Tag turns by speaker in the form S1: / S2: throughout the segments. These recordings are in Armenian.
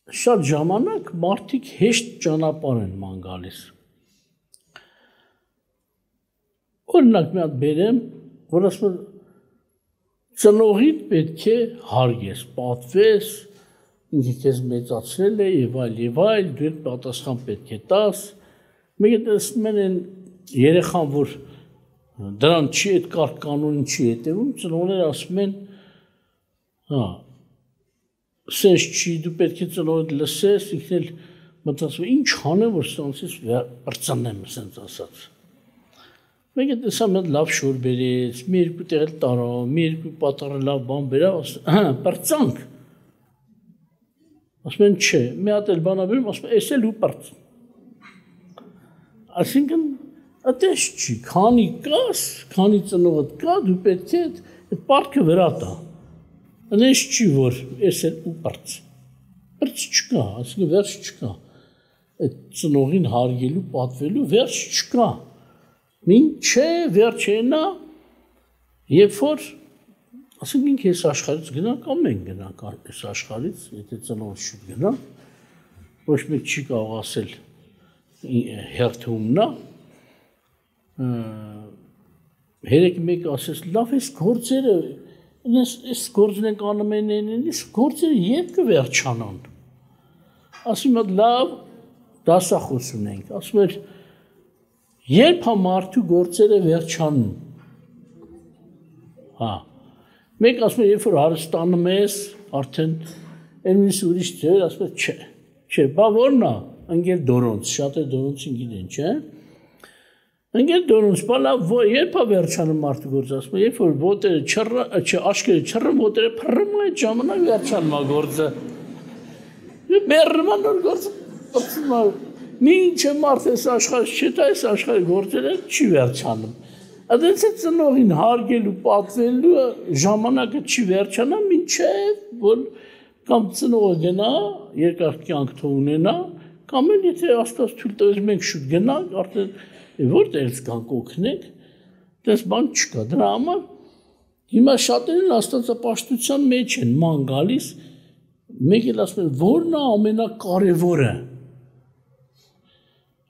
S1: շատ ժամանակ մարդիկ հեշտ ճանապարհ են ման գալիս։ Օրինակ մի հատ բերեմ, որ ասում եմ ծնողիդ պետք է հարգես, պատվես, ինքը քեզ մեծացրել է եւ այլ, դու պատասխան պետք է տաս։ Մեկը տեսնում են երեխան, որ դրան չի այդ կարգ կանոնին չի հետևում, ծնողները ասում են, հա, սենց չի, դու պետք է ծնողդ լսես, ինքն էլ մտածում, ինչ անեմ, որ սրանցից բրծանեմ, սենց ասած։ Մեկը տեսա մի հատ լավ շոր բերեց, մի երկու տեղ տարա, մի երկու պատառը լավ բան բերավ, բրծանք։ Ասում են չէ, մի հատ էլ բանա բերում, ասում են էս էլ ու բրծ։ Այսինքն այդպես չի, քանի կաս, քանի ծնողդ կա, դու պետք է այդ պարտքը վրա տա։ Այնպես չի, որ էս էլ ու բրծ։ Բրծ չկա, այսինքն վերջ չկա։ Այդ ծնողին հարգելու, պատվելու վերջ չկա։ Մինչե վերջենա, երբ որ ասենք ինքը այս աշխարհից գնա կամ մենք գնանք այս աշխարհից, եթե ծնողը շուտ գնա, ոչ մեկ չի կարող ասել հերթումնա, հերեկ մեկ ասես, լավ այս գործերը, այս գործն ենք անում են, այս գործերը երբ կվերջանան, ասում եմ լավ դասախոս ունենք, ասում եմ երբ մարդու գործերը վերջանում, հա, մեկ ասում եմ, երբ որ հարստանում ես, արդեն այնպես ուրիշ ձեր, ասում եմ, չէ, բա որն է, ընկեր դորոնց, շատ է դորոնցին գիտեն, չէ, ընկեր դորոնց, բա լավ, երբ է վերջանում մարդու գործը, ասում եմ, երբ որ ոտերը աչքերը չռում, ոտերը փռում այդ ժամանակ վերջանում է գործը, մեռնում է նոր գործը, մինչե մարդ այս աշխարհից չտա, այս աշխարհի գործերը չի վերջանում։ Այդպես է ծնողին հարգելու, պատվելու ժամանակը չի վերջանա, մինչև որ կամ ծնողը գնա, երկար կյանք թող ունենա, կամ էլ եթե Աստված թույլ տվեց մենք շուտ գնանք, արդեն որտեղից կանք օգնենք, դες բան չկա։ Դրա համար հիմա շատերն աստվածապաշտության մեջ են ման գալիս, մեկ էլ ասում են, որն է ամենակարևորը։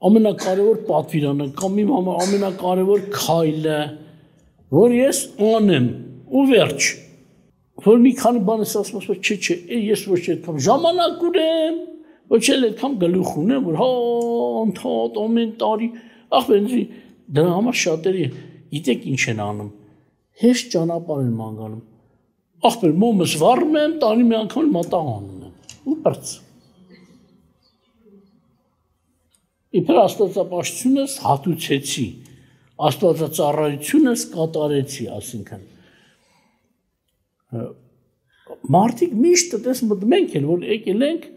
S1: Ամենակարևոր պատվիրանը կամ իմ ամենակարևոր քայլը, որ ես անեմ ու վերջ, որ մի քանի բան ես ասում, չէ, ես ոչ այդքան ժամանակ ունեմ, ոչ էլ այդքան գլուխ ունեմ, որ հա անդադ ամեն տարի, ախպենցի, դրա համար շատերի գիտեք ինչ են անում, հեշտ ճանապարհ են ման գալու, ախպեր մոմս վառում եմ, տարի մի անգամ մատաղ անում եմ ու բրծ։ Իբր աստվածապաշտությունս հատուցեցի, աստվածածառայությունս կատարեցի, ասինքն։ Մարդիկ միշտ տես մենք էլ, որ եկել ենք,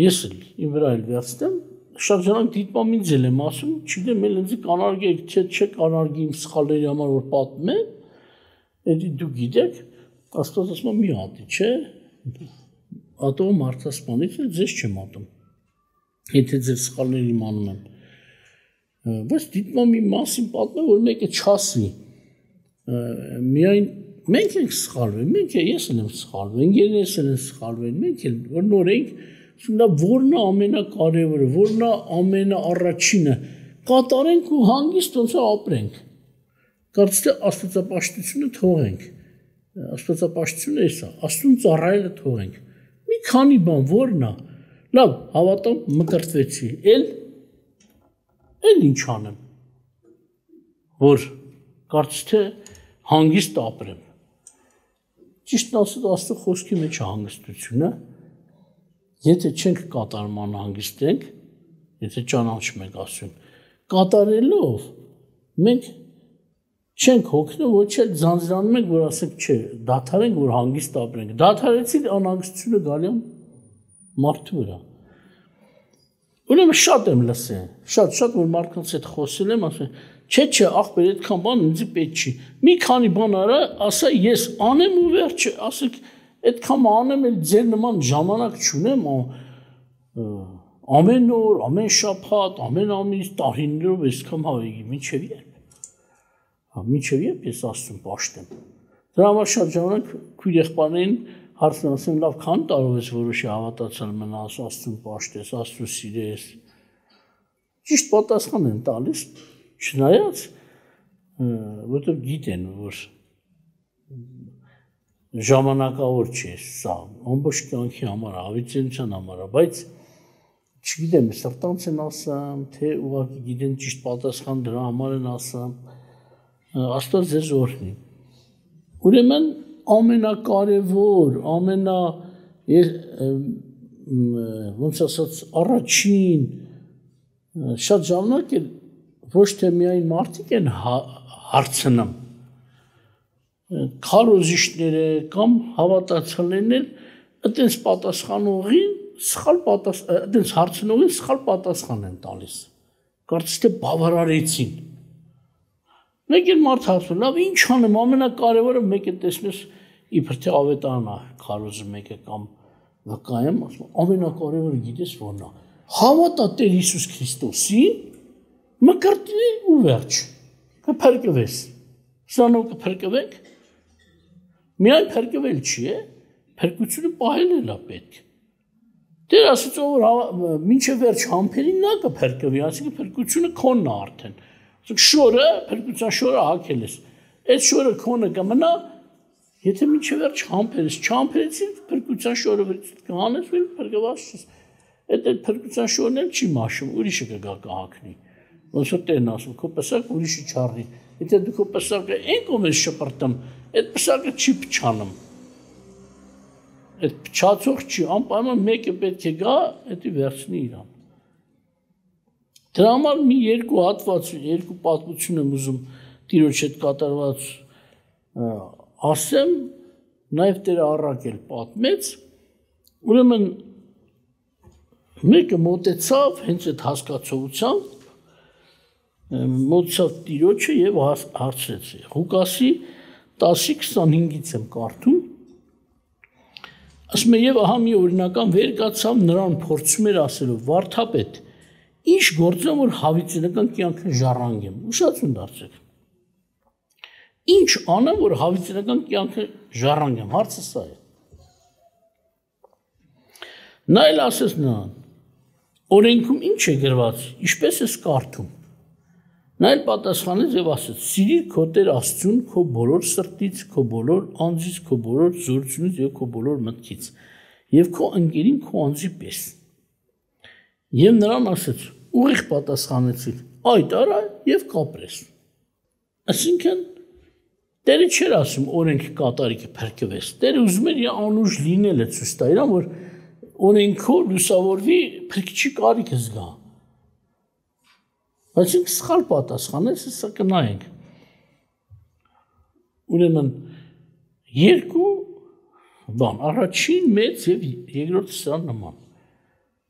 S1: ես էլ իմ վրա էլ վերցնեմ, շատ ժանակ դիտմամ ինձ էլ եմ ասում, չգիտեմ, էլ ինձ կանարգեք, չէ կանարգի իմ սխալների համար, որ պատմ է, էդի դու գիտեք, աստված ասում մի հատի, չէ, ատող մարդասպանից էլ ձեզ չեմ ատում։ Եթե ձեր սխալներ իմանում եմ, բայց դիտմամ իմ մասին պատմեմ, որ մեկը չասի, միայն մենք ենք սխալվել, ես էլ եմ սխալվել, ընկերներս էլ են սխալվել, մենք էլ, որ նոր ենք, որն է ամենակարևորը, որն է ամենաառաջինը, կատարենք ու հանգիստ ոնց է ապրենք, կարծես թե աստվածապաշտությունը թողենք, աստվածապաշտությունը էս է, Աստծուն ծառայելը թողենք, մի քանի բան, որն է, լավ, հավատամ, մկրտվեցի, էլ ինչ անեմ, որ կարծես թե հանգիստ ապրեմ, ճիշտն ասած Աստծո խոսքի մեջ է հանգստությունը, եթե չենք կատարում անհանգիստ ենք, եթե ճանաչում ենք Աստծուն, կատարելով մենք չենք հոգնում, ոչ էլ ձանձրանում ենք, որ ասենք չէ, դադարենք, որ հանգիստ ապրենք, դադարեցի անհանգստությունը գալի է մարդու վրա։ Ուրեմն շատ եմ լսել, շատ որ մարդկանց հետ խոսել եմ, ասում չէ, ախպեր, այդքան բան ինձ պետք չի։ Մի քանի բան արա, ասա ես անեմ ու վերջը, ասեք այդքան անեմ, էլ ձեր նման ժամանակ չունեմ, ամեն օր, ամեն շաբաթ, ամեն ամիս, տարիներով այսքան հավեգի, մինչև երբ։ Մինչև երբ ես Աստծուն պաշտեմ։ Դրա համար շատ ժամանակ քույր եղբայրներին հարցն ասեմ լավ քան տարով ես որոշի հավատացել մնաս, Աստծուն պաշտես, Աստծուն սիրես։ Ճիշտ պատասխան են տալիս, չնայած որտեղ գիտեն որ ժամանակավոր չէ սա, ամբողջ կյանքի համար, հավիտենության համար, բայց չգիտեմ, սրտանց են ասամ, թե ուղղակի գիտեն ճիշտ պատասխան դրա համար են ասամ, Աստված ձեզ օրհնի։ Ուրեմն ամենակարևոր, ոնց ասած առաջին շատ ժամանակ էլ ոչ թե միայն մարդիկ են հարցնում, քարոզիչները կամ հավատացյալներն էլ այդպես պատասխանողին այդպես հարցնողին սխալ պատասխան են տալիս։ Կարծես թե բավարարեցին։ Մեկ էլ մարդ հարցնում, լավ ինչ անեմ, ամենակարևորը մեկը տեսնես իբր թե ավետարանա քարոզը մեկը կամ վկայեմ, ասում ամենակարևորը գիտես որն է։ Հավատա Տեր Հիսուս Քրիստոսին, մկրտի ու վերջ։ Կփրկվես։ Սրանով կփրկվեք։ Միայն փրկվել չի, փրկությունը պահել է պետք։ Տեր ասաց որ մինչև վերջ համբերին նա կփրկվի, այսինքն փրկությունը քոնն է արդեն։ Շորը, փրկության շորը հագել ես։ Այդ շորը քոնը կմնա, եթե մինչև վերջ համբերես, չհամբերեցին փրկության շորը կհանես, ու փրկված ես։ Այդ փրկության շորն էլ չի մաշում, ուրիշը կգա կհագնի։ Ոնց որ Տերն ասում, քո պսակ ուրիշը չառնի։ Եթե դու քո պսակը այն կողմից շպրտում, այդ պսակը չի փչանում։ Այդ փչացող չի, անպայման մեկը պետք է գա, դա վերցնի իրան։ Դրա համար մի երկու հատված, երկու պատմություն եմ ուզում Տիրոջ հետ կատարված ասեմ, նաև Տերը առաքել պատմեց, ուրեմն մեկը մոտեցավ հենց այդ հասկացողությամբ, մոտեցավ Տիրոջը եւ հարցրեց։ Ղուկասի 10:25-ից եմ կարդում։ Ասում է եւ ահա մի օրինական վեր կացավ նրան փորձում էր ասելով. Վարդապետ, ինչ գործեմ որ հավիտենական կյանքը ժառանգեմ։ Ուշացում դարձեք։ Ինչ անեմ որ հավիտենական կյանքը ժառանգեմ, հարցը սա է։ Նա էլ ասեց նրան. օրենքում ինչ է գրված, ինչպես ես կարդում։ Նա էլ պատասխանեց եւ ասեց. սիրիր քո Տեր Աստծուն քո բոլոր սրտից, քո բոլոր անձից, քո բոլոր զորությունից եւ քո բոլոր մտքից եւ քո ընկերին քո անձի պես։ Եվ նրան ասեց. ուղիղ պատասխանեցիր, այդ արա եւ կապրես։ Այսինքն Տերը չէր ասում օրենք կատարի կփրկվես։ Տերը ուզում էր իր անուշ լինելը ցույց տա իրան, որ օրենքով լուսավորվի փրկչի կարիքը զգա։ Բայց ինքը սխալ պատասխանեց, սա կնայենք։ Ուրեմն երկու բան, առաջին մեծ եւ երկրորդը սա նման։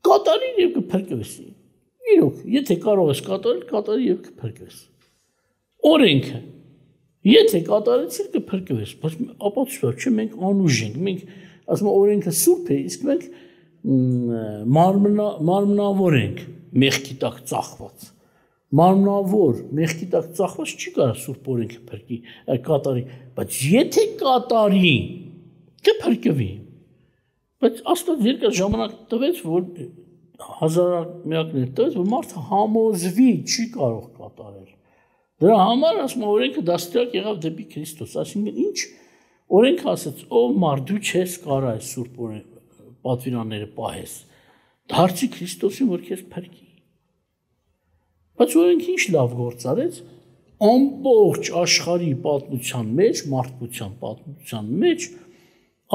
S1: Կատարի եւ կփրկվես։ Իրոք, եթե կարող ես կատարել, կատարի եւ կփրկվես։ Օրենքը եթե կատարեցիր կփրկվես, բայց ապացուցա չէ մենք անուժ ենք, մենք ասում ենք օրենքը սուրբ է, իսկ մենք մարմնավոր ենք, մեղքի տակ ծախված։ Մարմնավոր, մեղքի տակ ծախված չի կարող սուրբ օրենքը փրկի, կատարի, բայց եթե կատարի, կփրկվի։ Բայց Աստված երկար ժամանակ տվեց, որ հազարամյակներ տվեց, որ մարդը համոզվի չի կարող կատարել։ Դրա համար ասում օրենքը դաստիարակ եղավ դեպի Քրիստոս, այսինքն ինչ օրենքը ասաց, ով մարդ դու չես կարող այս սուրբ պատվիրանները պահես, դարձի Քրիստոսին, որ քեզ փրկի։ Բայց օրենքը ինչ լավ գործ արեց, ամբողջ աշխարհի պատմության մեջ, մարդկության պատմության մեջ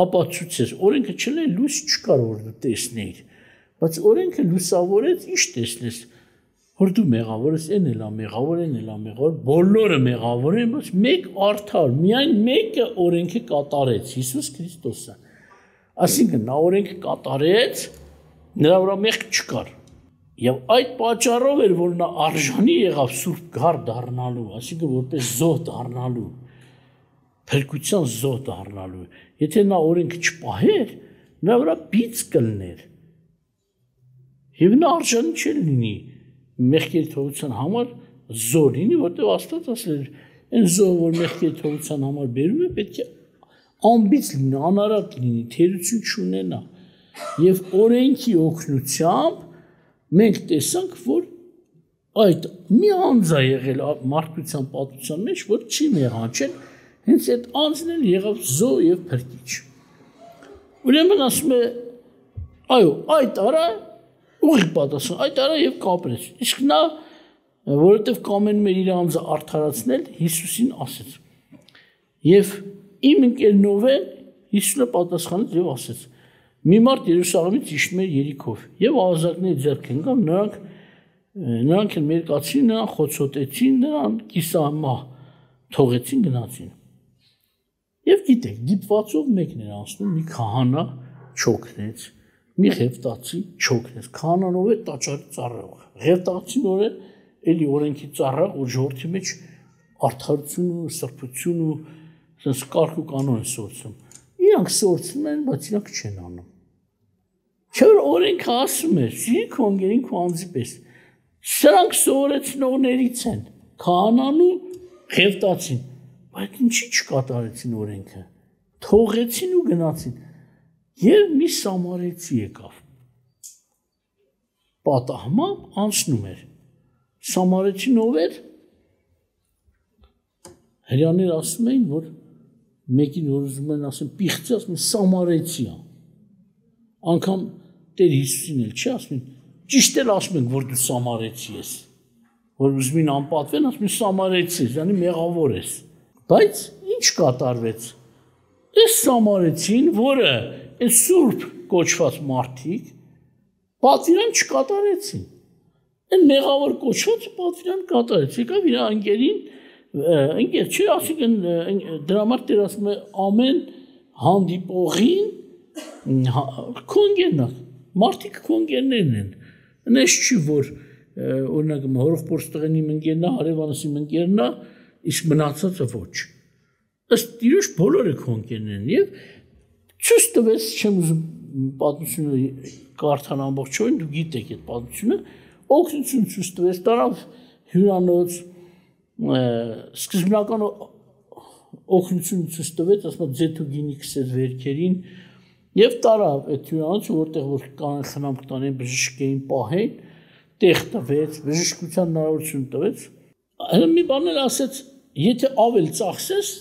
S1: ապացուցեց, օրենքը չէ լույս չկար որ դու տեսնեիր, բայց օրենքը լուսավորեց, ինչ տեսնես, որ դու մեղավոր ես, այն էլ մեղավոր, բոլորը մեղավոր են, բայց մեկ արդար, միայն մեկը օրենքը կատարեց, Հիսուս Քրիստոսը։ Այսինքն նա օրենքը կատարեց, նրա վրա մեղք չկար։ Եվ այդ պատճառով էր, որ նա արժանի եղավ սուրբ գար դառնալու, այսինքն որպես զոհ դառնալու, փրկության զոհ դառնալու։ Եթե նա օրենքը չպահեր, նրա վրա բիծ կլներ։ Եվ նա արժանի չէր լինի մեղքերի թողության համար զոհ լինի, որտեղ Աստված ասել էր, այն զոհը, որ մեղքերի թողության համար բերում է, պետք է ամբից լինի, անարատ լինի, թերություն չունենա։ Եվ օրենքի օգնությամբ մենք տեսանք, որ այդ մի անձ է եղել մարդկության պատմության մեջ, որ չի մեղանչել, հենց այդ անձն էլ եղավ զո եւ փրկիչ։ Ուրեմն ասում է, այո, այդ արա ուղիղ պատասխան, այդ արա եւ կապրեց։ Իսկ նա, որովհետեւ կամենում էր իր անձը արդարացնել, Հիսուսին ասեց։ Եւ իմ ընկերնով է Հիսուսը պատասխանեց եւ ասեց. մի մարդ Երուսաղեմից իջնում էր Երիքով եւ ավազակների ձեռք ընկան, նրանք էլ մերկացին, նրան խոցոտեցին, նրան կիսամահ թողեցին, գնացին։ Եվ գիտեք, դիպվածով մեկն էր անցնում, մի քահանա չոքնեց, մի ղևտացի չոքնեց, քահանան ով է տաճարի ծառայող, ղևտացին ով է էլի օրենքի ծառայող, որ ժողովրդի մեջ արդարություն ու սրբություն ու sense կարգ ու կանոն սորցում։ Իրանք սորցում են, բայց իրանք չեն անում։ Չէ՞ որ օրենքը ասում է, սիրի քո ընկերին քո անձի պես։ Սրանք սովորեցնողներից են, քահանան ու ղևտացին, բայց ինչի չկատարեցին օրենքը։ Թողեցին ու գնացին։ Եվ մի սամարեցի եկավ։ Պատահմամբ անցնում էր։ Սամարեցին ով էր։ Հրյաներ ասում էին, որ մեկին որ ուզում են ասեն պիղծի, ասում են սամարեցի է։ Անգամ Տեր Հիսուսին էլ չի ասում, ճիշտ էլ ասում ենք, որ դու սամարեցի ես։ Որ ուզում են անպատվեն, ասում են սամարեցի ես, yani մեղավոր ես։ Բայց ինչ կատարվեց։ Այս սամարեցին, որը այս սուրբ կոչված մարդիկ պատվիրան չկատարեցին։ Այն մեղավոր կոչվածը պատվիրան կատարեց։ Եկավ իր անկերին ընկեր չի ասիկն դրա համար Տեր ասում է ամեն հանդիպողին քոնգերն մարդիկ քոնգերներն են նես չի որ օրինակ հորով տղենի ընկերնա հարևանս իմ ընկերնա իսկ մնացածը ոչ ըստ իրոք բոլորը քոնգերն են եւ ցույց տվեց չեմ ուզում պատմությունը կարդալ ամբողջովին դու գիտեք այդ պատմությունը օգնություն ցույց տվեց տարավ հյուրանոց սկզբնական օգնություն ցույց տվեց, ասում ձեթու գինի քսեց վերքերին եւ տարավ այդ հյուրանոցը, որտեղ որ կանեն խնամք տանեն, բժշկեին պահեն, տեղ տվեց, բժշկության հնարավորություն տվեց։ Այլ մի բան էլ ասեց, եթե ավել ծախսես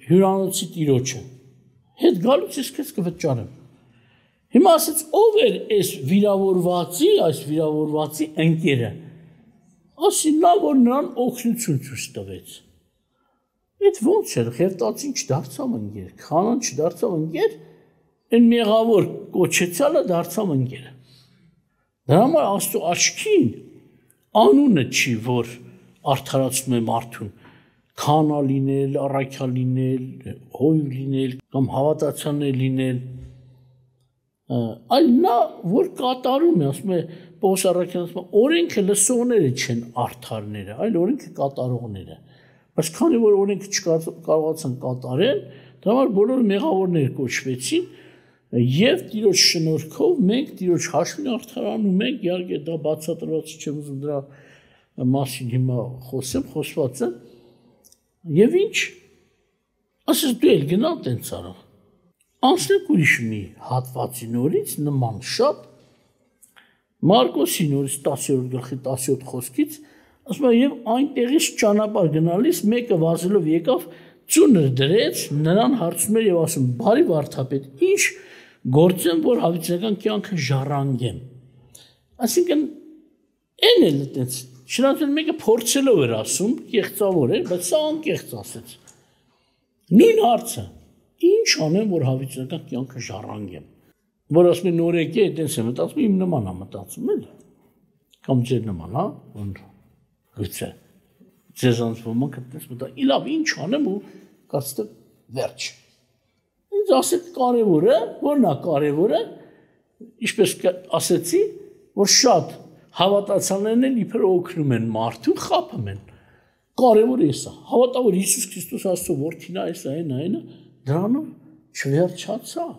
S1: հյուրանոցի տիրոջը, հետ գալուց ես քեզ կվճարեմ։ Հիմա ասեց, ով էր այս վիրավորվածի ընկերը։ Ասին նա, որ նրան օգնություն ցույց տվեց։ Այդ ոնց էր, ղևտացին չդարձավ ընկեր, քահանան չդարձավ ընկեր, այն մեղավոր կոչեցյալը դարձավ ընկերը։ Դրա համար Աստծո աչքին անունը չի, որ արդարացնում է մարդուն, քահանա լինել, առաքյալ լինել, հոյու լինել կամ հավատացյալներ լինել, այլ նա, որ կատարում է, ասում է Պողոս առաքյալն ասում է, օրենքը լսողները չեն արդարները, այլ օրենքը կատարողները։ Բայց քանի որ օրենքը չկարողացան կատարել, դրա համար բոլորը մեղավորներ կոչվեցին եւ Տիրոջ շնորհքով մենք Տիրոջ հաշվին արդարանում ենք, իհարկե դա բացատրված չեմ ուզում դրա մասին հիմա խոսեմ, խոսված է։ Եվ ինչ, ասես դու էլ գնալ տենց արա։ Անցնենք ուրիշ մի հատվածի նորից նման շատ Մարկոսի նորից 10-րդ գլխի 17 խոսքից ասում է եւ այնտեղից ճանապարհ գնալիս մեկը վազելով եկավ ծուներ դրեց նրան հարցնում էր եւ ասում բարի վարդապետ ինչ գործեմ որ հավիտենական կյանքը ժառանգեմ այսինքն այն էլ այդպես շնորհակալ մեկը փորձելով էր ասում կեղծավոր էր բայց սա անկեղծ ասեց նույն հարցը ինչ անեմ որ հավիտենական կյանքը ժառանգեմ որ ասում են նորեկի այդպես է մտածում իմ նման է մտածում էլ կամ ձեր նման հա գուցե ձեզանց ոմանք այդպես մտա իլավ ինչ անեմ ու կարծեմ վերջ ինձ ասեք կարևորը որն է կարևորը ինչպես ասեցի որ շատ հավատացյալներն էլ իբր օգնում են մարդուն խափում են կարևորը էսա հավատա որ Հիսուս Քրիստոս Աստծո որդին է էսա այնա դրանով չվերջացավ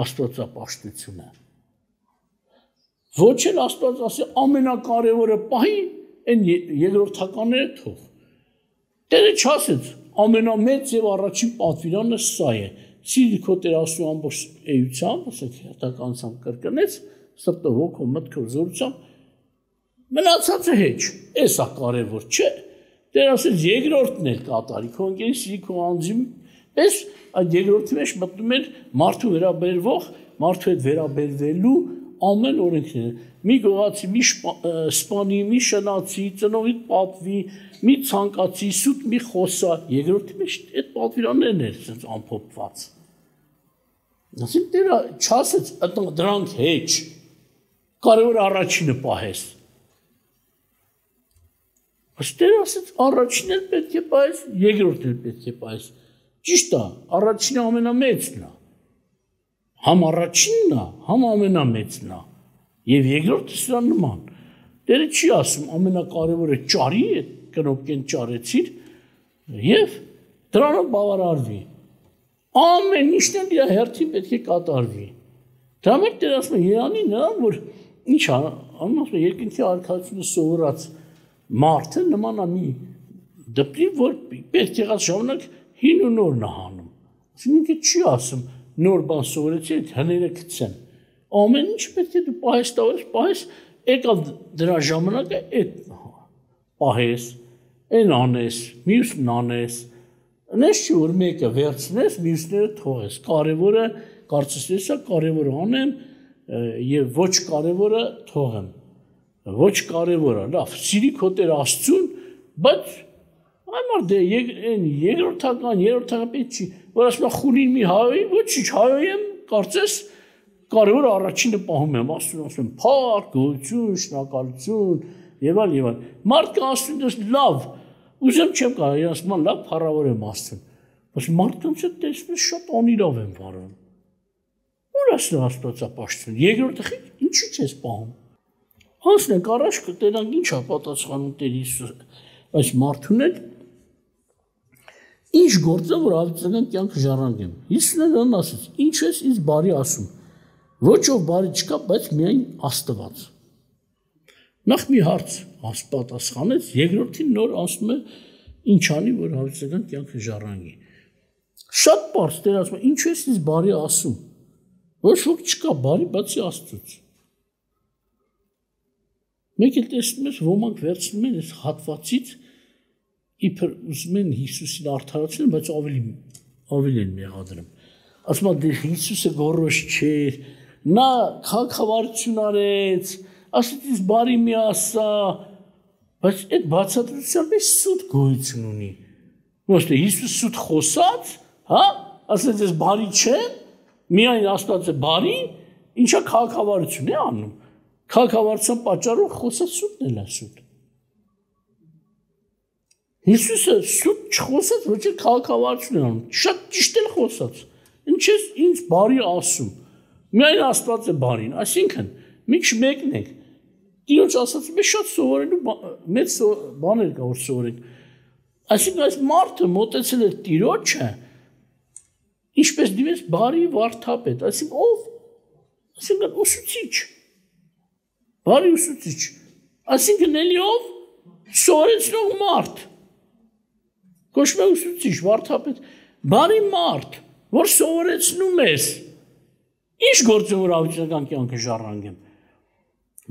S1: աստվածապաշտությունը ոչ էլ Աստված ասի ամենակարևորը պահի այն երկրորդականները թող Տերը չասեց ամենամեծ եւ առաջին պատվիրանը սա է. Սիրի քո Տեր Աստծո ամբողջ էությամբ, ասենք հերթականությամբ կրկնեց, սրտով, հոգով, մտքով, զորությամբ, մնացածը հեչ, էսա կարևոր չէ։ Տեր ասեց երկրորդն էլ կատարի, քո ընկերի սիրի քո անձի պես այդ երկրորդի մեջ մտնում էր մարդու վերաբերվող, մարդու հետ վերաբերվելու ամեն օրենքները։ Մի գողացի, մի սպանի, մի շնացի, ծնողիդ պատվի, մի ցանկացի, սուտ մի խոսա, երկրորդի մեջ այդ պատվիրաններն էր ասենց ամփոփված։ Ասենք Տերը չասեց դրանք հեչ, կարևոր առաջինը պահես։ Տերը ասեց առաջինն էլ պետք է պահես, երկրորդն էլ պետք է պահես։ Ճիշտ է, առաջինը ամենամեծն է։ Համ առաջինն է, համ ամենամեծն է։ Եվ երկրորդը սրա նման։ Տերը չի ասում ամենակարևորը ճարի, այդ կնոպկեն ճարեցիր, եւ դրանով բավարարվի։ Ամեն ինչն էլ իր հերթին պետք է կատարվի։ Դրա մեջ Տերը ասում է Երանի նրան, որ ինչ անում ասում է երկնքի արքայությունը սովորած մարդը նման է մի դպրի, որ պետք եղած ժամանակ հին ու նոր նահանում։ Ինքը չի ասում նոր բան սովորեցի, այդ հները գցեն։ Ամեն ինչ պետք է դու պահես տավես, պահես, եկավ դրա ժամանակը այդ պահես, այն անես, մյուսն անես։ Նես չի որ մեկը վերցնես, մյուսները թողես։ Կարևորը կարծես էսա կարևորը անեմ եւ ոչ կարևորը թողեմ։ Ոչ կարևորը, լավ, սիրի քո Տեր Աստծուն, բայց Այմար դե երկրորդական պետք չի, որ ասում է խուլին մի հայոյի, ոչինչ հայոյեմ, կարծես կարևոր առաջինը պահում եմ, ասում եմ փառք, գոհություն, շնորհակալություն եւ այլ։ Մարդը ասում դες լավ, ուզեմ չեմ կարող, ասում եմ լավ, փառավոր եմ Աստծուն։ Բայց մարդկանց հետ տեսնես շատ անիրավ եմ վարում։ Ուր ասում Աստվածապաշտություն, երկրորդը ինչի՞ չես պահում։ Անցնենք առաջ կտենանք ինչա պատասխանում Տեր Հիսուսը, այս մարդուն էլ ինչ գործը որ ավետական կյանք ժառանգեմ։ Հիսուսն նրան ասեց. Ինչ ես ինձ բարի ասում։ Ոչ ով բարի չկա, բայց միայն Աստված։ Նախ մի հարց պատասխանեց, երկրորդին նոր ասում է ինչ անի, որ ավետական կյանքը ժառանգի։ Շատ բարձ Տեր ասում է, ինչ ես ինձ բարի ասում։ Ոչ ոք չկա բարի, բացի Աստծուց։ Մեկ էլ տեսնում ես, ոմանք վերցնում են այս հատվածից իբր ուզում են Հիսուսին արդարացնել, բայց ավելի են մեղադրում։ Ասում են դե Հիսուսը գոռոզ չէր, նա քաղաքավարություն արեց, ասեց ինձ բարի մի ասա, բայց այդ բացատրության մեջ սուտ գոյություն ունի։ Ոչ թե Հիսուս սուտ խոսած, հա, ասեց ես բարի չեմ, միայն Աստված է բարի, ինչա քաղաքավարություն է անում։ Քաղաքավարության պատճառով խոսած սուտն էլ է սուտ։ Հիսուսը սուտ չխոսած, ոչ էլ քաղաքավարություն է անում, շատ ճիշտ էլ խոսած։ Ինչ ես ինձ բարի ասում։ Միայն Աստված է բարին, այսինքն մեկն եք։ Տիրոջ ասածը մեզ շատ սովորելու մեծ բաներ կա որ սովորենք։ Այսինքն այս մարդը մոտեցել է Տիրոջը, ինչպես դիմեց բարի վարդապետ, այսինքն ով, այսինքն ուսուցիչ։ Բարի ուսուցիչ, այսինքն էլի ով սովորեցնող մարդ, կոչվում է ուսուցիչ, վարդապետ, բարի մարդ, որ սովորեցնում ես, ինչ գործը որ ավետական կյանքը ժառանգեմ,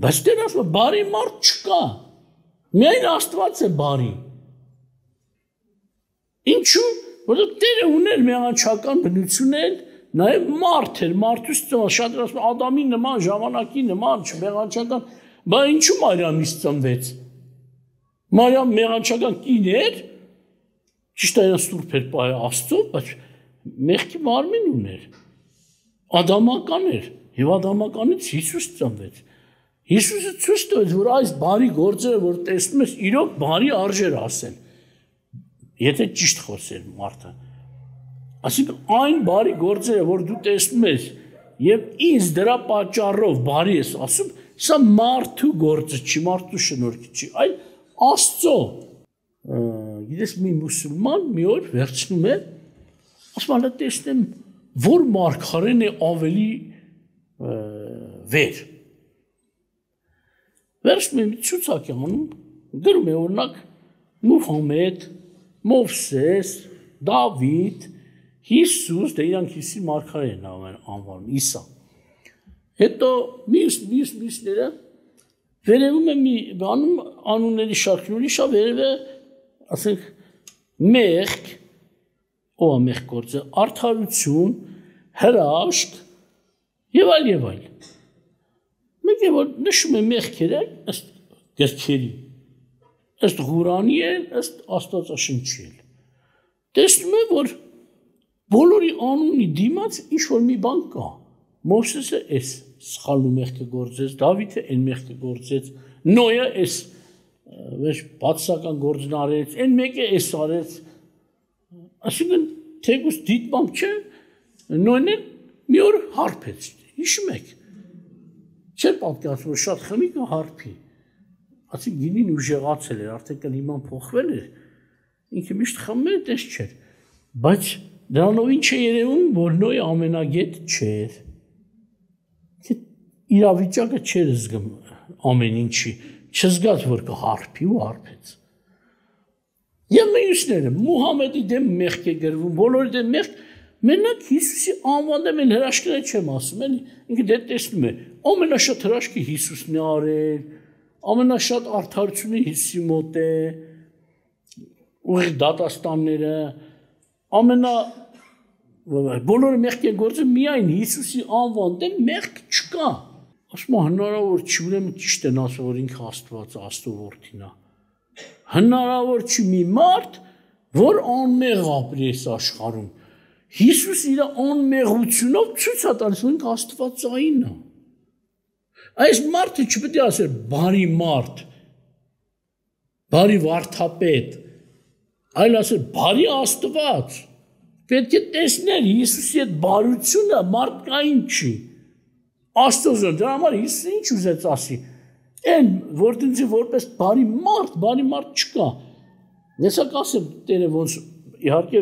S1: բայց Տերը ասում է բարի մարդ չկա, միայն Աստված է բարի, ինչու, որովհետև Տերը ուներ մեղանչական բնություն էլ, նաև մարդ էր, մարդուց ծնված, շատ ասում Ադամի նման, ժամանակի նման, մեղանչական, բայց ինչու Մարիամից ծնվեց։ Մարիամ մեղանչական կին էր, ճիշտ է սուրբ էր պահել Աստծո, բայց մեղքի մարմին ուներ։ Ադամական էր, եւ ադամականից Հիսուս ծնվեց։ Հիսուսը ցույց տվեց, որ այս բարի գործերը, որ տեսնում ես, իրոք բարի արժեր ասել։ Եթե ճիշտ խոսեր մարդը։ Այսինքն այն բարի գործերը, որ դու տեսնում ես եւ ինձ դրա պատճառով բարի ես ասում, սա մարդու գործը չի, մարդու շնորհքի չի, այլ Աստծո։ Գիտես մի մուսուլման մի օր վերցնում է, ասում է տեսնեմ, որ մարգարեն է ավելի վեր։ Վերցնում է մի ցուցակ անում, գրում է օրինակ Մուհամեդ, Մովսես Դավիթ, Հիսուս, դե իրանք Հիսուսի մարգարեն անվանում, Իսա։ Հետո մյուսները վերևում է մի բանում անունների շարքն ուրիշ է, վերև է, ասենք, մեղք, ով է մեղք գործը, արդարություն, հրաշք եւ այլ։ Մեկ է որ նշում է մեղքերը ըստ գրքերի, ըստ Ղուրանի էլ, ըստ Աստվածաշնչի էլ։ Տեսնում է, որ բոլորի անունի դիմաց ինչ-որ մի բան կա։ Մովսեսը էս սխալու մեղքը գործեց, Դավիթը այն մեղքը գործեց, Նոյը էս բացասական գործն արեց, այն մեկը էս արեց։ Այսինքն թեկուզ դիտմամբ չէ, Նոյն էլ մի օր հարբեց, հիշում եք։ Չէր պատկերացնում, որ շատ խմի կա հարբի։ Ասի գինին ուժեղացել էր, արդեն կլիման փոխվել էր, ինքը միշտ խմում էր, տես չէր։ Բայց դրանով ինչ է երևում, որ Նոյը ամենագետ չէր։ Իրավիճակը չէր զգում ամեն ինչի, չզգաց, որ կհարբի ու հարբեց։ Եվ մյուսները, Մուհամեդի դեմ մեղք է գրվում, բոլորի դեմ մեղք, մենակ Հիսուսի անվան դեմ էլ հրաշքները չեմ ասում, էլի, ինքը դե տեսնում է, ամենաշատ հրաշքը Հիսուսն է արել, ամենաշատ արդարությունը Հիսուսի մոտ է, ուղիղ դատաստանները, բոլորը մեղք է գործում, միայն Հիսուսի անվան դեմ մեղք չկա։ Ասում հնարավոր չի, ուրեմն ճիշտ են ասում, որ ինքը Աստված Աստծո որդին է։ Հնարավոր չի մի մարդ, որ անմեղ ապրի այս աշխարհում։ Հիսուս իր անմեղությունով ցույց է տալիս, որ ինքը Աստվածային է։ Այս մարդը չպետք է ասել բարի մարդ, բարի վարդապետ, այլ ասել բարի Աստված։ Պետք է տեսնել Հիսուսի այդ բարությունը մարդկային չի։ Աստծոն, դրա համար Հիսուսը ինչ ուզեց ասի։ Այն որտեղի որպես բարի մարդ չկա։ Ես ասեմ Տերը ոնց իհարկե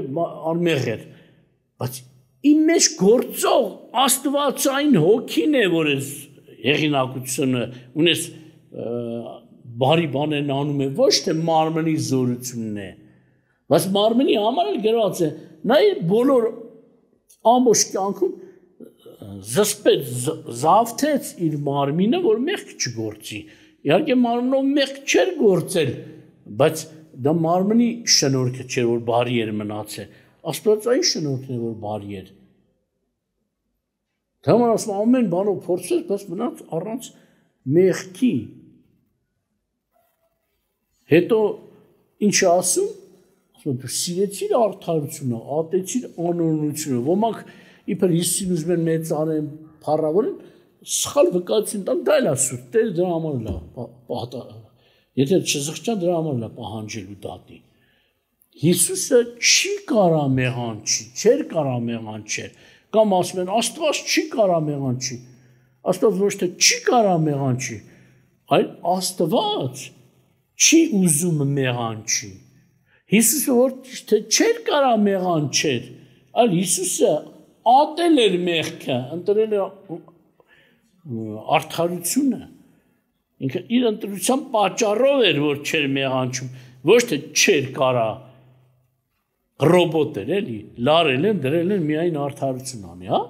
S1: անմեղ էր, բայց իմ մեջ գործող Աստվածային հոգին է, որ այս հեղինակությունը ունես բարի բաներն անում է, ոչ թե մարմնի զորությունն է։ Բայց մարմնի համար էլ գրված է, նա իր բոլոր ամբողջ կյանքում զավթեց իր մարմինը, որ մեղք չգործի։ Իհարկե մարմնով մեղք չէր գործել, բայց դա մարմնի շնորհքը չէր, որ բարի էր մնացել։ Աստվածային շնորհքն է, որ բարի էր։ Դա համար ասում ամեն բանով փորձեց, բայց մնաց առանց մեղքի։ Հետո ինչ ասում, դու սիրեցիր արդարությունը, ատեցիր անօրենությունը, ոմանք իբր Հիսուսին ուզում են մեծարեն, փառավորեն, սխալ վկայություն տան, դա էլ է սուրբ, Տերը դրա համար է, եթե չզղջան դրա համար է պահանջելու դատի։ Հիսուսը չի կարա մեղանչի, չէր կարա մեղանչել, կամ ասում են Աստված չի կարա մեղանչի, Աստված ոչ թե չի կարա մեղանչի, այլ Աստված չի ուզում մեղանչի։ Հիսուսը որ թե չէր կարա մեղանչել, այլ Հիսուսը ատել էր մեղքը, ընտրել էր արդարությունը, ինքը իր ընտրության պատճառով էր, որ չէր մեղանչում, ոչ թե չէր կարա, ռոբոտ էր, էլի, լարել են, դրել են միայն արդարություն անի, հա?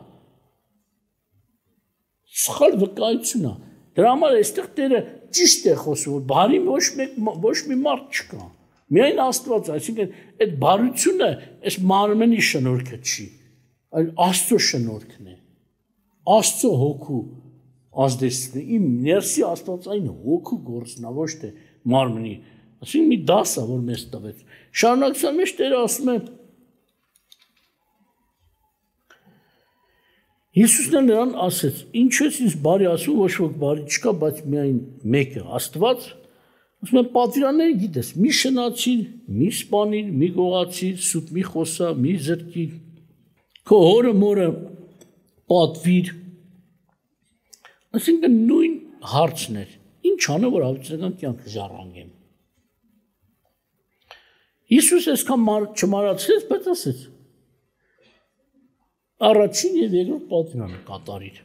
S1: Սխալ վկայություն է, դրա համար այստեղ Տերը ճիշտ է խոսում, որ բարի ոչ մի մարդ չկա, միայն Աստված, այսինքն այդ բարությունը այս մարմնի շնորհքը չի, այլ Աստծո շնորհքն է, Աստծո հոգու ազդեցությունը, իմ ներսի Աստվածային հոգու գործն է, ոչ թե մարմնի, այսինքն մի դաս է, որ մեզ տվեց։ Շարունակության մեջ Տերը ասում է, Հիսուսն է նրան ասեց, ինչ ես ինձ բարի ասում, ոչ ոք բարի չկա, բայց միայն մեկը, Աստված, ասում են պատվիրանները գիտես, մի շնացիր, մի սպանիր, մի գողացիր, սուտ մի խոսա, մի զրկիր, քո հորը մորը պատվիր, այսինքն նույն հարցն էր, ինչ անեմ, որ հավիտենական կյանքը ժառանգեմ։ Հիսուս այսքան չմարացրեց, բայց ասեց, առաջին և երկրորդ պատվիրանը կատարիր։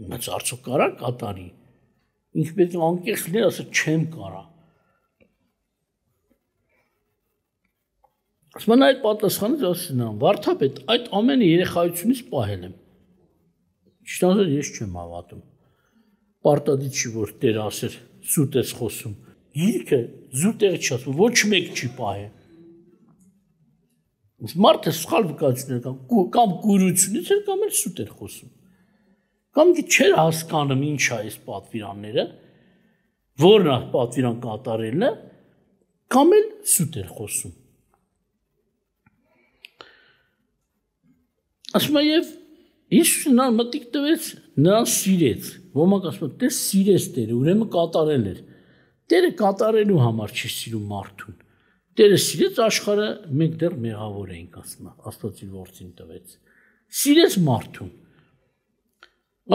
S1: Բայց արդյոք կարա կատարի։ Ինքը պետք է անկեղծ լիներ, ասել չեմ կարա։ Ասում այդ պատասխանից ասում եմ, վարդապետ, այդ ամենը երեխայությունից պահել եմ։ Ճիշտ ասած ես չեմ հավատում։ Պարտադիր չի որ Տերը ասեր սուտ ես խոսում։ Գիրքը զուտեղի չի ասում, ոչ մեկ չի պահել։ Մարդը սխալ վկայություններ կամ կուրությունից էր կամ էլ սուտ էր խոսում։ Կամ չէր հասկանում ինչ է այս պատվիրանները, որն է պատվիրան կատարելը, կամ էլ սուտ էր խոսում։ Ասում եմ եւ Հիսուսը նրան մտիկ տվեց, նրան սիրեց։ Ոմանք ասում են, դե սիրեց Տերը, ուրեմն կատարել էր։ Տերը կատարելու համար չի սիրում մարդուն։ Տերը սիրեց աշխարհը, մենք դեռ մեղավոր էինք, ասում եմ, Աստված իր որդին տվեց։ Սիրեց մարդուն։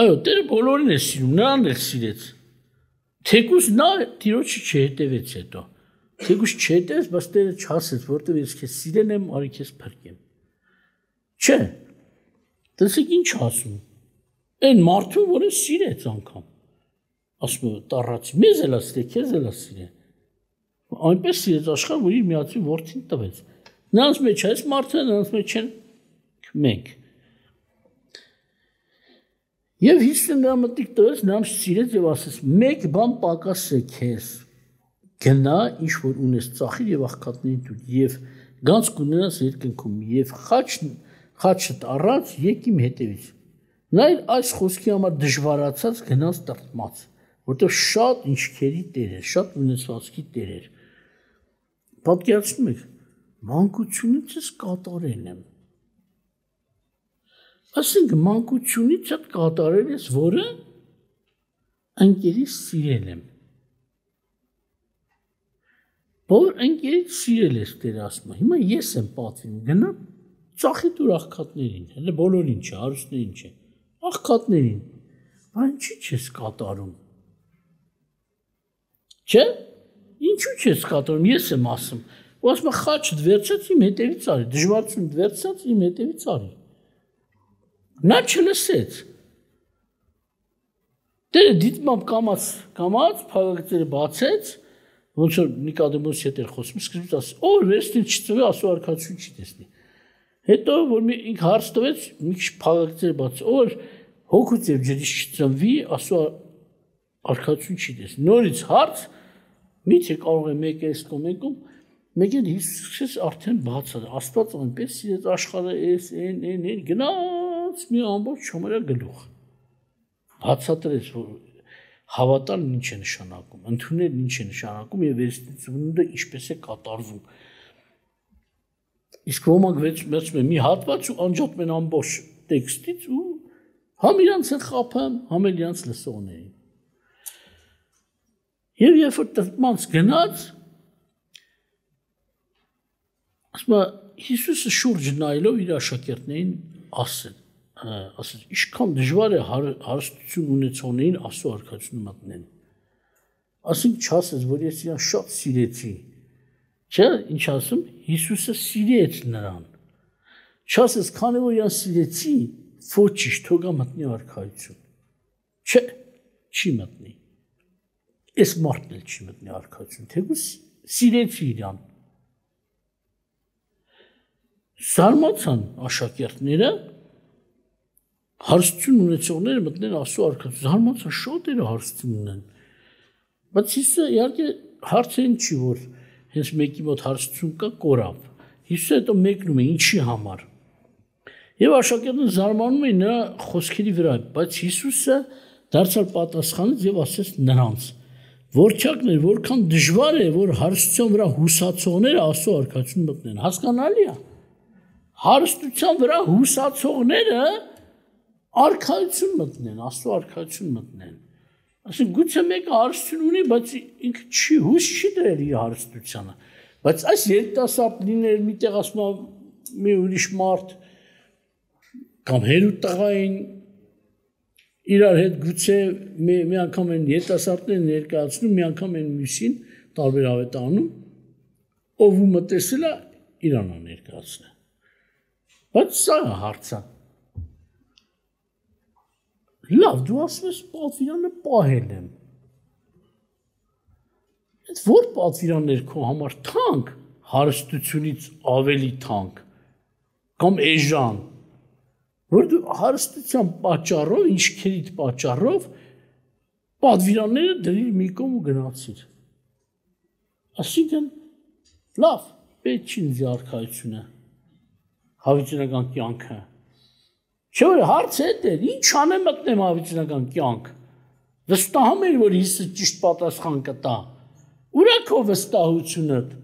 S1: Այո, Տերը բոլորին է սիրում, նրան էլ սիրեց։ Թեկուզ նա Տիրոջը չհետևեց հետո։ Թեկուզ չհետևեց, բայց Տերը չասեց, որտեղ ես քեզ սիրել եմ, արի քեզ փրկեմ։ Չէ։ Տեսեք ինչ ասում։ Այն մարդուն, որը սիրեց անգամ։ Ասում է տառացի, մեզ էլ սիրե, քեզ էլ սիրե։ Այնպես սիրեց աշխարհը, որ իր միածին որդին տվեց։ Նրանց մեջ այս մարդը, նրանց մեջ են մենք։ Եվ Հիսուսը նրան մտիկ տվեց, նրան սիրեց եւ ասեց. «Մեկ բան պակաս է քեզ։ Գնա, ինչ որ ունես, ծախիր եւ աղքատներին տուր եւ գանձ կունենաս երկնքում եւ խաչդ առած եկ իմ հետևից»։ Նա այս խոսքի համար դժվարացած գնաց տրտմած, որտեղ շատ ինչքերի Տեր էր, շատ ունեցվածքի Տեր էր։ Պատկերացնում եք, մանկությունից ես կատարել եմ։ Այսինքն մանկությունից ես կատարել ես, որը ընկերից սիրել եմ։ Որ ընկերից սիրել ես Տերը ասում է, հիմա ես եմ պատվին, գնա ծախի դուր աղքատներին, հələ բոլորին չէ, հարուստներին չէ, աղքատներին։ Բայց ինչի՞ չես կատարում։ Չէ՞։ Ինչու չես կատարում, ես եմ ասում։ Ու ասում եմ խաչդ վերցած իմ հետևից արի, դժվարությունդ վերցած իմ հետևից արի։ Նա չլսեց։ Տերը դիտմամբ կամաց փաղաքցերը բացեց, ոնց որ Նիկոդեմոսի հետ էր խոսում, սկզբից ասում, «Ո՞ր վերստին չծվի, Աստծո արքայություն չի տեսնի»։ Հետո որ ինքը հարց տվեց, մի քիչ փաղաքցերը բացեց, «Ո՞ր հոգուց եւ ջրից չծնվի, Աստծո արքայություն չի տեսնի»։ Նորից հարց, միթե կարող է մեկը էս կամ մեկ էլ Հիսուսը արդեն բացած, Աստված այնպես սիրեց աշխարհը, այն գնաց մի ամբողջ չոմերա գլուխ։ Բացատրեց, որ հավատալն ինչ է նշանակում, ընդունելն ինչ է նշանակում եւ վերստիծումը ինչպես է կատարվում։ Իսկ ոմանք վերցնում են մի հատված ու անջատում են ամբողջ տեքստից ու համ իրանց են խափում, համ էլ իրանց լսողներին։ Եվ երբ որ տրտմանց գնաց, ասում է Հիսուսը շուրջ նայելով իր աշակերտներին ասեց, ինչքան դժվար է հարստություն ունեցողներին Աստծո արքայությունը մտնեն։ Ասենք չասես, որ ես իրան շատ սիրեցի։ Չէ, ինչ ասում, Հիսուսը սիրեց նրան։ Չասես, քանի որ իրան սիրեցի, ոչինչ, թողա մտնի արքայություն։ Չէ, չի մտնի։ Այս մարդն էլ չի մտնի արքայություն, թեկուզ սիրեցի իրան։ Զարմացան աշակերտները, հարստություն ունեցողները մտնեն Աստծո արքայություն, զարմացան շատերը հարստություն ունեն։ Բայց Հիսուսը իհարկե հարցերին չի, որ հենց մեկի մոտ հարստություն կա, կորավ։ Հիսուսը հետո մեկնում է ինչի համար։ Եվ աշակերտները զարմանում էին նրա խոսքերի վրա, բայց Հիսուսը դարձավ պատասխանեց եւ ասեց նրանց. «Որչակներ, որքան դժվար է, որ հարստության վրա հուսացողները Աստծո արքայություն մտնեն»։ Հասկանալի է։ Հարստության վրա հուսացողները արքայություն մտնեն, Աստծո արքայություն մտնեն։ Այսինքն գուցե մեկը հարստություն ունի, բայց ինքը չի հույս չի դրել իր հարստությանը։ Բայց այս երիտասարդ լիներ միտեղ ասում մի ուրիշ մարդ կամ հերու տղային իրար հետ գուցե մի անգամ են երիտասարդները ներկայացնում, մի անգամ են մյուսին տարբեր ավետանում, ով ու մտեսել է իրան ներկայացնել։ Բայց սա է հարցը։ Լավ, դու ասում ես պատվիրանը պահել եմ։ Այդ որ պատվիրաններ քո համար թանկ, հարստությունից ավելի թանկ կամ էժան, որ դու հարստության պատճառով, ինչքերիդ պատճառով պատվիրանները դրիր մի կողմ ու գնացիր։ Այսինքն լավ, պետք չի ինձ արքայությունը, հավիտենական կյանքը։ Չէ՞ որ հարցը է, ինչ անեմ մտնեմ հավիտենական կյանք։ Վստահում եմ, որ Հիսուսը ճիշտ պատասխան կտա։ Ուր է քո վստահությունդ։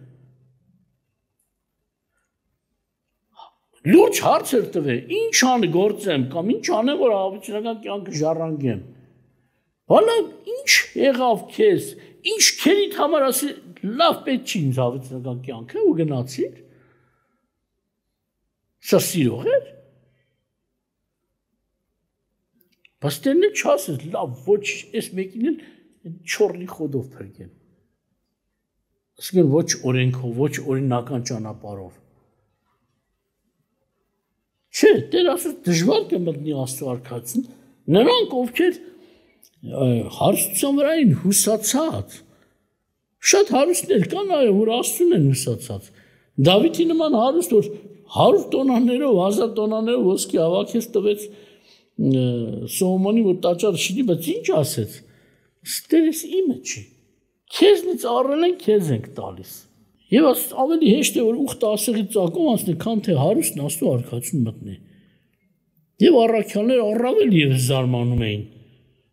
S1: Լուրջ հարցեր տվե, ինչ գործեմ կամ ինչ անեմ, որ հավիտենական կյանքը ժառանգեմ։ Հալա ինչ եղավ քեզ, ինչ քերիդ համար ասի, լավ պետք չի ինձ հավիտենական կյանքը ու գնացիր։ Սա սիրող էր։ Բայց դեռ չասես, լավ, ոչ այս մեկին էլ չորլի խոդով փրկեմ։ Այսինքն ոչ օրենքով, ոչ օրինական ճանապարհով։ Չէ, Տեր ասում դժվար կմտնի Աստծո արքայություն, նրանք ովքեր հարստության վրա են հուսացած, շատ հարուստներ կան, այո, որ Աստծուն են հուսացած։ Դավիթի նման հարուստ, որ 100 տոնաներով, 1000 տոնաներով ոսկի հավաքեց տվեց Սողոմոնի, որ տաճարը շինի, բայց ինչ ասեց։ Ստերես իմը չի։ Քեզնից առել են, քեզ ենք տալիս։ Եվ ավելի հեշտ է, որ ուխտը ասեղի ծակում անցնի, քան թե հարուստն Աստծո արքայություն մտնի։ Եվ առաքյալները առավել ևս զարմանում էին։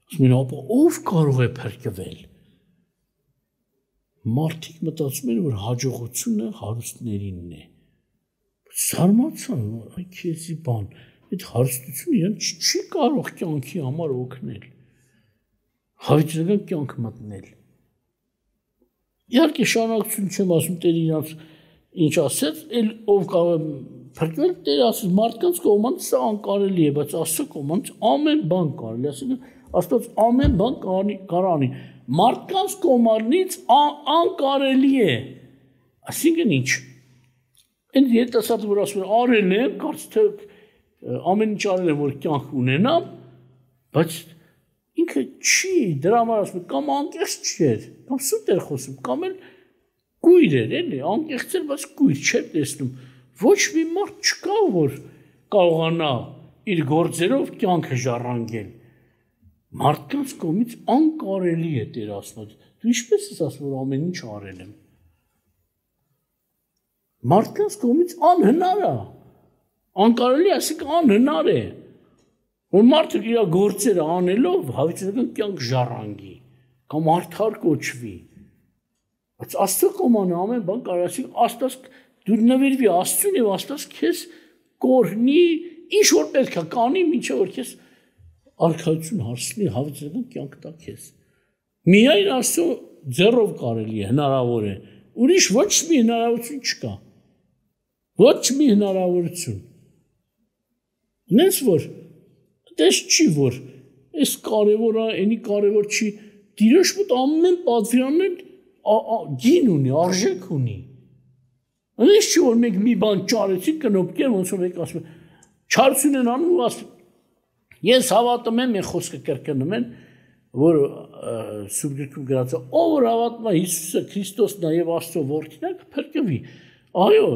S1: Ասում են, ապա ով կարող է փրկվել։ Մարդիկ մտածում են, որ հաջողությունը հարուստներինն է։ Զարմացան, այ քեզի բան, այդ հարստությունը իրեն չի կարող կյանքի համար օգնել։ Հավիտենական կյանք մտնել։ Իհարկե շարունակություն չեմ ասում, Տեր իրանց ինչ ասեց, էլ ով կարող է փրկվել, Տեր ասեց, մարդկանց կողմից սա անկարելի է, բայց Աստծո կողմից ամեն բան կարելի է, ասենք Աստված ամեն բան կարանի։ Մարդկանց կողմից անկարելի է։ Այսինքն ինչ։ Այն երիտասարդը, որ ասում են արել եմ, կարծես թե ամեն ինչ արել եմ, որ կյանք ունենամ, բայց ինքը չի, դրա համար ասում եմ, կամ անկեղծ չէր, կամ սուտ էր խոսում, կամ էլ կույր էր, էլի, անկեղծ էր, բայց կույր չէր տեսնում։ Ոչ մի մարդ չկա, որ կարողանա իր գործերով կյանքը ժառանգել։ Մարդկանց կողմից անկարելի է Տեր ասում։ Դու ինչպես ես ասում, որ ամեն ինչ արել եմ։ Մարդկանց կողմից անհնար է։ Անկարելի, այսինքն անհնար է, որ մարդը իր գործերը անելով հավիտենական կյանք ժառանգի կամ արդար կոչվի։ Բայց Աստծո կողմանը ամեն բան կարող է, Աստված դու նվիրվի Աստծուն եւ Աստված քեզ կօրհնի, ինչ որ պետք է կանի, մինչեւ որ քեզ արքայություն հասնի, հավիտենական կյանք տա քեզ։ Միայն Աստծո ձեռով կարելի է, հնարավոր է։ Ուրիշ ոչ մի հնարավորություն չկա։ Ոչ մի հնարավորություն։ Նենց որ դες չի որ այս կարևոր է, այնի կարևոր չի, Տիրոջ մոտ ամեն պատվիրանն գին ունի, արժեք ունի։ Այնպես չի որ մենք մի բան ճարեցի կնոպկեր, ոնց որ մենք ասում են, չարություն են անում ու ասում ես հավատում եմ, մենք խոսքը կրկնում են, որ Սուրբ Գրքում գրած է, ով որ հավատում է Հիսուսը Քրիստոսն է եւ Աստծո որդին է, կփրկվի։ Այո,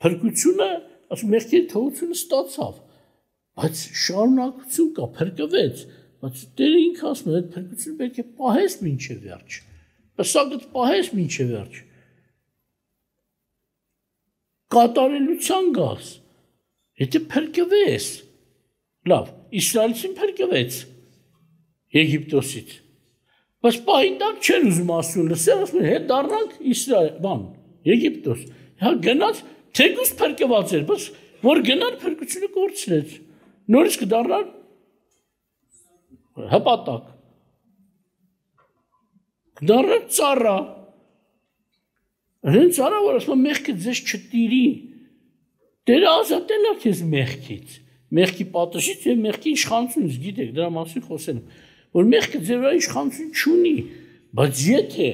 S1: փրկությունը, ասում մեղքի թողությունը ստացավ, բայց շարունակություն կա, փրկվեց, բայց Տերը ինքը ասում է, այդ փրկությունը պետք է պահես մինչև վերջ։ Պսակդ պահես մինչև վերջ։ Կատարելության գաս, եթե փրկվես, լավ, Իսրայելին փրկվեց Եգիպտոսից, բայց պահին տակ չեն ուզում ասում, լսել, ասում են, հետ դառնանք Իսրայել, բան, Եգիպտոս, հա գնաց, թեկուզ փրկված էր, բայց որ գնար փրկությունը կորցրեց, նորից կդառնար հպատակ, կդառնար ծառա, հենց արա, որ ասում մեղքը ձեզ չտիրի, Տերը ազատել է քեզ մեղքից, մեղքի պատժից եւ մեղքի իշխանությունից, գիտեք, դրա մասին խոսել եմ, որ մեղքը ձեր վրա իշխանություն չունի, բայց եթե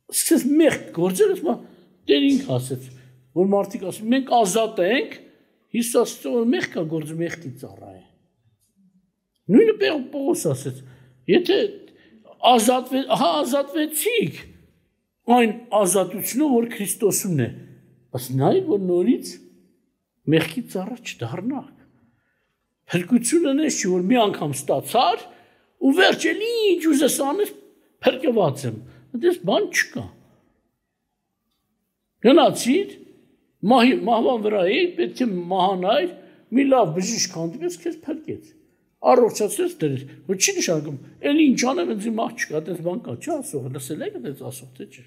S1: սկսես մեղք գործել, ասում Տեր ինքը ասեց, որ մարդիկ ասում, մենք ազատ ենք, Հիսուս ասեց, որ մեղքը գործում մեղքի ծառա է։ Նույնը Պողոս ասեց, եթե ազատվեցիք, այն ազատությունը, որ Քրիստոսումն է, բայց նայ որ նորից մեղքի ծառա չդառնաք։ Փրկությունը նես չի, որ մի անգամ ստացար ու վերջել ինչ ուզես անես փրկված եմ։ Այդպես բան չկա։ Գնացիր, մահվան վրա էի, պետք է մահանայր, մի լավ բժիշկ հանդիպեց, քեզ փրկեց։ Առողջացրեց դրեց, որ չի նշանակում, էլի ինչ անեմ, ինձ մահ չկա, այդպես բան կա, չէ՞ ասող, լսել եք այդպես ասող, թե չէ։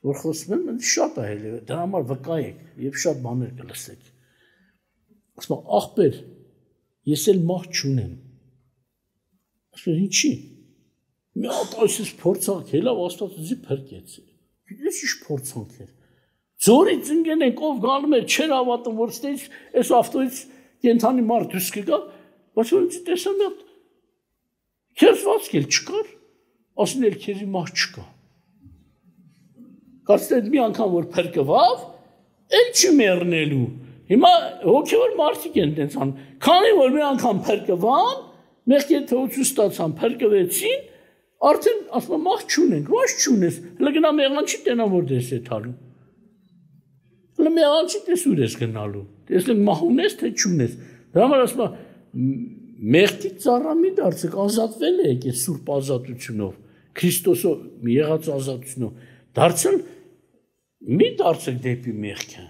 S1: Որ խոսում եմ, շատ է հելի, դրա համար վկա եք, եւ շատ բաներ կլսեք։ Ասում ախպեր, ես էլ մահ չունեմ։ Ասում ինչի։ Մի հատ այսպես փորձանք է, լավ Աստվածի փրկեց։ Գիտես ինչ փորձանք էր։ Ձորից ընկեն եք, ով գալու է, չեր հավատում, որ ստեյց այս ավտոյից կենթանի մարդ դուրս կգա, բայց որ ինձ տեսա մի հատ քերծվածք էլ չկար, ասում էլ քեզի մահ չկա։ Կարծես մի անգամ որ փրկվավ, էլ չի մեռնելու։ Հիմա հոգևոր մարդիկ են տենց անում։ Քանի որ մի անգամ փրկվան, մեղքի թողություն ստացան, փրկվեցին, արդեն ասում մահ չունենք, ոչ չունես։ Հələ գնա մեղանչի տենա որ դես է թալու։ Հələ մեղանչի տես ուր ես գնալու։ Տեսնենք մահ ունես թե չունես։ Դրա համար ասում մեղքի ծառա մի դարձեք, ազատվել եք այս սուրբ ազատությունով, Քրիստոսով եղած ազատությունով։ Դարձել մի դարձեք դեպի մեղքը։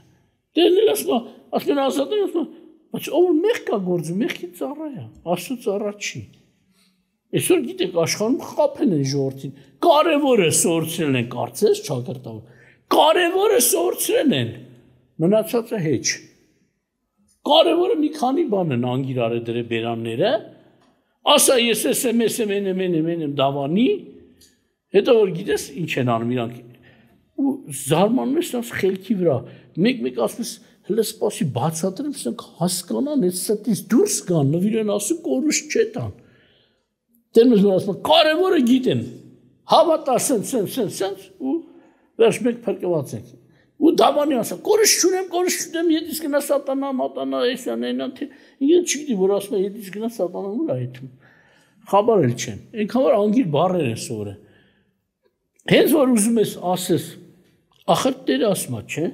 S1: Դերնել ասում ազատել, ասում բայց ով մեղք կա գործում, մեղքի ծառա է, Աստծո ծառա չի։ Այսօր գիտեք աշխարհում խափեն են ժողովրդին, կարևորը սորցրել են, կարծես ճակերտավոր։ Կարևորը սորցրել են, մնացածը հեչ։ Կարևորը մի քանի բան են անգիր արել դրե բերանները, ասա ես եմ դավանի, հետո որ գիտես ինչ են անում իրանք ու զարմանում ես նրանց խելքի վրա, մեկ ասում ես հələ սպասի բացատրեմ, սրանք հասկանան, այս ստից դուրս գան, նվիրեն ասում կորուս չետան։ Դերմես որ ասում կարևորը գիտեն, հավատա սենց ու վերջ մեկ փրկված ենք։ Ու դավանի ասա կորուս չունեմ, ետից գնա սատանա, մատանա, էսան, այնան, թե ինքն չգիտի, որ ասում է ետից գնա սատանան ուր այդում։ Խաբար էլ չեն, այնքան որ անգիր բառեր են սովորել։ Հենց որ ուզում ես ասես, ախր Տերը ասում է, չէ՞,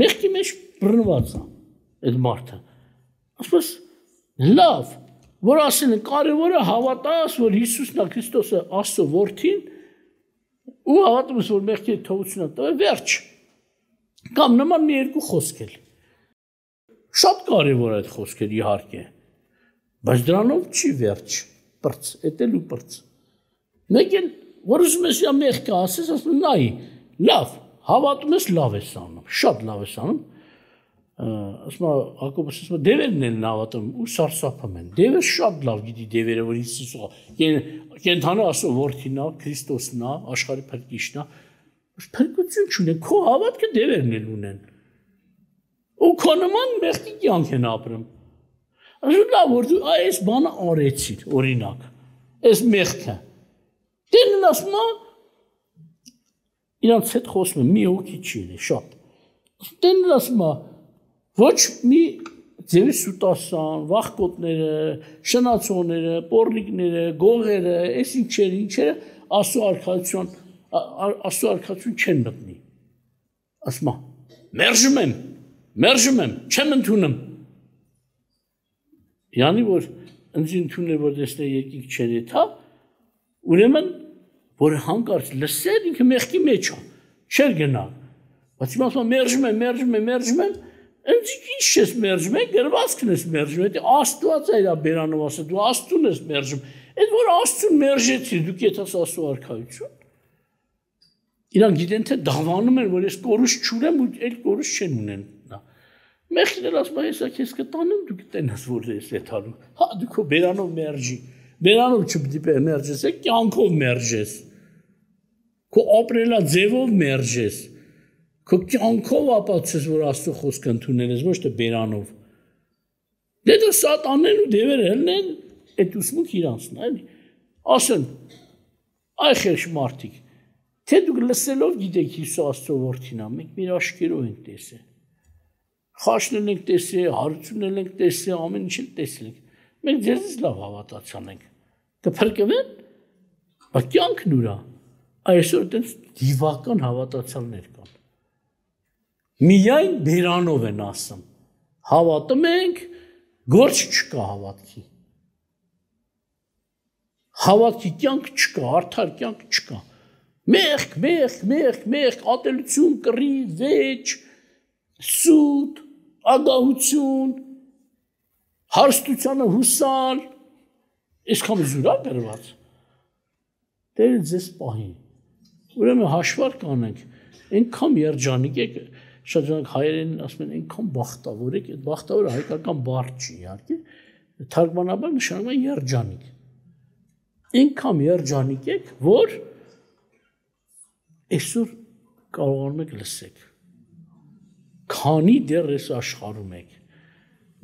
S1: մեղքի մեջ բռնված է այդ մարդը։ Ասում ես, լավ, որ ասեն կարևորը հավատաս, որ Հիսուսն է Քրիստոսը Աստծո որդին, ու հավատում ես, որ մեղքի թողությունը տվել, վերջ։ Կամ նման մի երկու խոսք էլ։ Շատ կարևոր է այդ խոսքերը իհարկե, բայց դրանով չի վերջ, պրծ, էտել ու պրծ։ Մեկ էլ, որ ուզում ես մեղքը ասես, ասում նայ, լավ, հավատում ես լավ ես անում, շատ լավ ես անում, ասում Հակոբոս ասում դևերն են հավատում ու սարսափում են, դևերը շատ լավ գիտի դևերը, որ Հիսուսը կենթանը Աստծո որդին է, Քրիստոսն է, աշխարհի փրկիչն է, փրկություն չունեն, քո հավատքը դևերն են ունեն, ու քո նման մեղքի կյանք են ապրում, ասում լավ, որ դու այս բանը արեցիր, օրինակ, այս մեղքը, դերն ասում է, իրանց հետ խոսում է, մի հոգի չի է, շատ, դերն ասում է, ոչ մի ձևի սուտասան, վախկոտները, շնացողները, պոռնիկները, գողերը, այս ինչերը Աստծո արքայություն չեն մտնի։ Ասում է, մերժում եմ, չեմ ընդունում։ Յանի որ ինձ ընդունել որ տեսնել երկինք չեն եթա, ուրեմն որ հանկարծ լսել ինքը մեղքի մեջ է, չեր գնա։ Բայց հիմա ասում մերժում եմ, ինձ ինչ ես մերժում, գրվածքն ես մերժում, դա Աստված է դա բերանով ասել, դու Աստծուն ես մերժում։ Այդ որ Աստծուն մերժեցի, դու կեթաս Աստծո արքայություն։ Իրանք գիտեն թե դավանում են, որ ես կորուս չունեմ ու այլ կորուս չեն ունեն։ Մեղքն էլ ասում է, հեսա քեզ կտանեմ, դու կտենաս որ ես եթալու։ Հա դու քո բերանով մերժի։ Բերանով չպետք է մերժես, կյանքով մերժես։ Քո ապրելա ձևով մերժես։ Քո կյանքով ապացուցես, որ Աստծո խոսքը ընդունել ես, ոչ թե բերանով։ Դե դա սատանեն ու դևերը հելնեն, այդ ուսմունք իրանցն, էլի։ Ասեն, այ խեղճ մարդիկ, թե դուք լսելով գիտեք Հիսուս Աստծո որդին է, մենք մեր աչքերով ենք տեսել։ Խաշնել ենք տեսել, հարությունել ենք տեսել, ամեն ինչ էլ տեսել ենք։ Մենք ձեզից լավ հավատացան ենք։ Կփրկվեն, բայց կյանքն ուր է։ Այսօր դες դիվական հավատացյալներ կան։ Միայն բերանով են ասում։ Հավատում ենք, գործ չկա հավատքի։ Հավատքի կյանք չկա, արդար կյանք չկա։ Մեղք, ատելություն, կռիվ, վեճ, սուտ, ագահություն, հարստությանը հուսալ, այսքան զուրա գրված։ Դեր ձեզ պահի։ Ուրեմն հաշվարկ անենք, այնքան երջանիկ եք, շատ ժանակ հայերեն ասում են այնքան բախտավոր եք, այդ բախտավորը հայկական բառ չի իհարկե, թարգմանաբար նշանակում է երջանիկ։ Այնքան երջանիկ եք, որ այսօր կարողանում եք լսեք։ Քանի դեռ այս աշխարհում եք։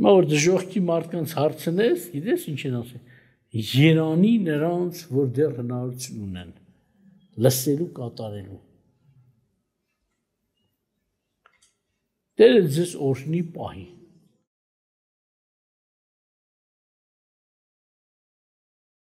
S1: Հիմա որ դժոխքի մարդկանց հարցնես, գիտես ինչ են ասում։ Երանի նրանց, որ դեռ հնարավորություն ունեն լսելու, կատարելու։ Դեր ձեզ օրհնի պահի։